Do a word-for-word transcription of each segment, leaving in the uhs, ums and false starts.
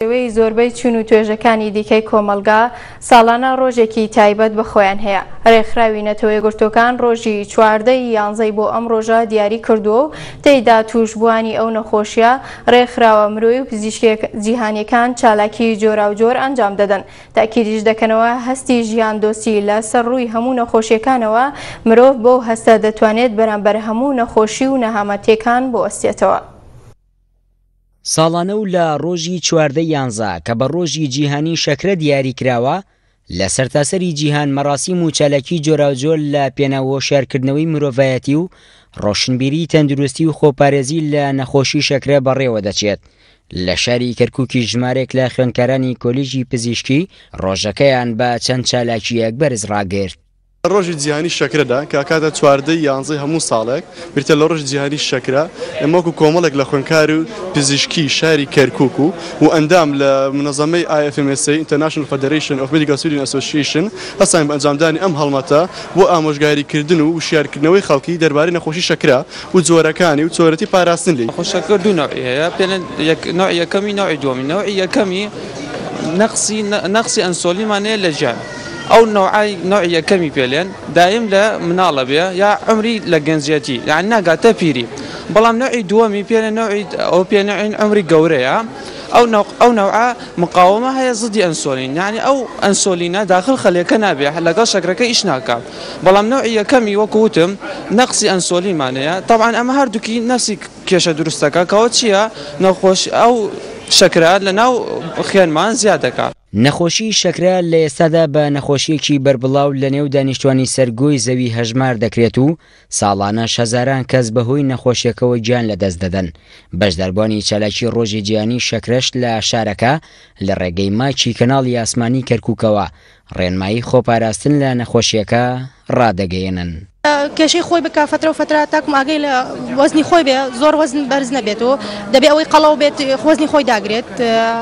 شێوەی زۆربەی چین و توێژەکانی دیکەی کۆمەڵگا ساڵانە ڕۆژێکی تایبەت بە خۆیان هەیە. ڕێکخراوی نەتەوە یەکگرتووەکان ڕۆژی چواردە ی یانزەی بۆ ئەم ڕۆژە دیاری کردووە و تێیدا تووشبووانی ئەو نەخۆشیە ڕێکخراوە مرۆیی و پزیشکی جیهانیەکان چالاکی جۆراوجۆر ئەنجام دەدەن. تاکیدیش دەکەنەوە هەستی ژیان دۆستی لە سەر ڕووی هەموو نەخۆشیەکانەوە مرۆڤ بەو هەستە دەتوانێت بەرامبەر هەموو نەخۆشی و نەهامەتیەکان بوەستێتەوە. ساڵانە و لە ڕۆژی چواردە یانزە کە بە ڕۆژی جیهانی شەکرە دیاری کراوە، لە سەرتاسەری جیهان مەراسیم و چالاکی جۆراوجۆر لە پێناو هۆشیارکردنەوەی مرۆڤایەتی و ڕۆشنبیری تەندروستی و خۆپارێزی لە نەخۆشی شەکرە بەڕێوە دەچێت. لە شاری کەرکووکی ژمارێک لە خوێندکارانی کۆلیژی پزیشکی ڕۆژەکەیان بە چەند چالاکییەک بەرز ڕاگرت. ڕۆژی جیهانی شەکرەدا کە کاتە چواردەی یانزەی هەموو ساڵێک بریتە لە ڕۆژی جیهانی شەکرە، ئێمە وەکو کۆمەڵێک لە خوێندکار و پزیشکی شاری کەرکووک و و ئەندام لە منەظەمەی I F M S A International Federation of Medical Student Association هەستاین بە ئەنجامدانی ئەم هەڵمەتە بۆ ئامۆژگاریکردن و وشیارکردنەوەی خەڵکی دەربارەی نەخۆشی شەکرە و جۆرەکانی و چۆنیەتی پاراستن لێی. شەکر دوو نەوعی هەیە، پێڵێن نەوعی یەکەمی نەوعی دووەمی. نەوعی یەکەمی نەقسی نەقسی ئەنسۆلینمان هەیە لە گیان، ئەو نەوعای نەوعی یەکەمی پێلێن دایم لە مناڵە بێ یا عمری لە گەنجیەتی، یعنی ناگاتە پیری. بەڵام نەوعی دووەمی پێلێن نەوعی ئەو پێنەوعین عمری گەورەیە، ئەو ئەو نەوعە مقاومە هەیە زدی ئەنسۆلین، یعنی ئەو ئەنسۆلینە داخل خەلێکە نابێ لەگەڵ شەکرەکە ئیش ناکا. بەڵام نەوعی یەکەمی وەکو وتم نەقسی ئەنسۆلینمان هەیە. طبعا ئەمە هەردووکی نەفسی کێشە دروستەکە کەەوە چییە؟ نەخۆش ئەو شەکرە لەناو خوێنمان زیاد دەکات. نەخۆشی شەکرە لە ئێستادا بە نەخۆشیەکی بەربڵاو لە نێو دانیشتوانی سەرگۆی زەوی هەژمار دەکرێت و ساڵانەش هەزاران کەس بەهۆی نەخۆشیەکەوە گیان لەدەست دەدەن. بەشداربووانی چالاکی ڕۆژی جیهانی شەکرەش لە شارەکە لە ڕێگەی ماچی کەناڵی ئاسمانی کەرکووکەوە ڕێنمایی خۆپاراستن لە نەخۆشیەکە ڕادەگەیەنن. کێشەی خۆی بکە فترە و فترە تاکم ئاگەی لە وەزنی خۆی بێ، زۆر وەزن بەرز نەبێت و دەبێ ئەوەی قەڵەو بێت وەزنی خۆی داگرێت،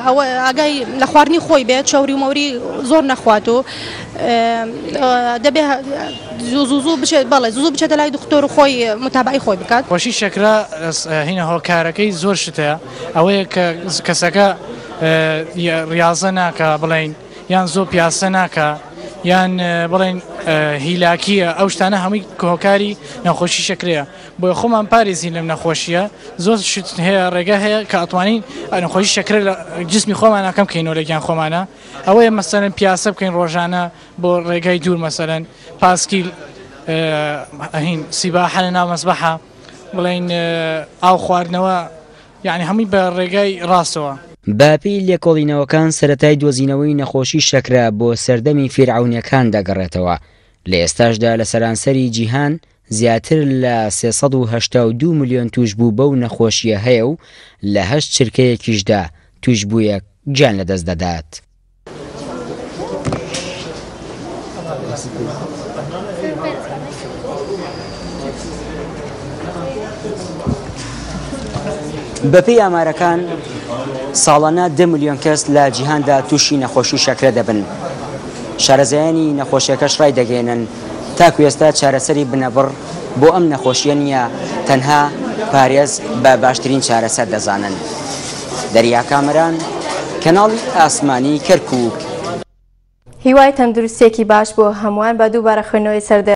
ئەوە ئاگای لە خواردنی خۆی بێت، چەوری و مەوری زۆر نەخوات و دەبێ زوو زوو زوو بچێت، بەڵێ زوو بچێتە لای دکتۆر و خۆی متابعەی خۆی بکات. خۆشی شەکرە هینە هۆکارەکەی زۆر شتەیە، ئەوەیە کە کەسەکە ڕیاضە ناکە بڵێین، یان زۆر پیاسە ناکە، یان بڵێن هیلاکیە، ئەو شتانە هەمووی هۆکاری نەخۆشی شەکرەیە. بۆیە خۆمان پارێزین لەم نەخۆشیە. زۆر شت هەیە، ڕێگە هەیە کە ئەتوانین نەخۆشی شەکرە لە جسمی خۆمانە کەم بکەینەوە لە گیان خۆمانە. ئەوەیە مەسەلەن پیاسە بکەین ڕۆژانە بۆ ڕێگای دوور، مەسەلەن پاسکیل، هین سیباحە لە ناو مەسبەحە، بڵێین ئاو خواردنەوە، یعنی هەمووی بە ڕێگای ڕاستەوە. بەپێی لێکۆڵینەوەکان سەرەتای دۆزینەوەی نەخۆشی شەکرە بۆ سەردەمی فیرعەونەکان دەگەڕێتەوە. لە ئێستاشدا لە سەرانسەری جیهان زیاتر لە سێ سەد و هەشتا و دوو ملیۆن توشبوو بەو نەخۆشیە هەیە و لە هەشت چرکەیەکیشدا توشبوویەک گیان لەدەست دەدات. بەپێی ئامارەکان ساڵانە دە ملیۆن کەس لە جیهاندا تووشی نەخۆشی شەکرە دەبن. شارەزایانی نەخۆشیەکەش ڕای دەگەێنن تاکو ئێستا چارەسەری بنەبڕ بۆ ئەم نەخۆشیە نییە، تەنها پارێز بە باشترین چارەسەر دەزانن. دەریا کامەران، کەناڵی ئاسمانی کەرکووک. هیوای تەندروستیەکی باش بۆ هەمووان بە دووبارە خوێندنەوەی سەردە